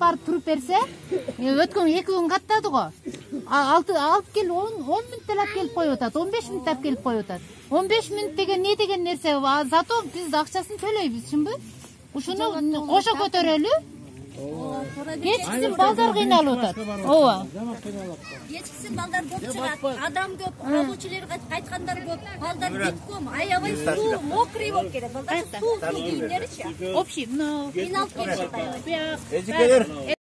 барып туруп берсе, өткөн 2 күн каттады го. Алып кел 10 мүнөттө алып келип коюп атат, 15 мүнөттө алып келип коюп атат. 15 мүнөт деген не деген нерсе? Зато биз акчасын төлөйбүз, чынбы? Ушуну кошо көтөрөлү. Кечкисин балдар кыйналып атат. Ооба. Кечкисин балдар көп чыгат. Адам көп, алуучулар кайткандар көп. Балдар бүткөм, аябай суу мокрый болуп келет. Балдар суу кийимдеричи. Общий, Кыйналып келишет аябай. Эжекелер.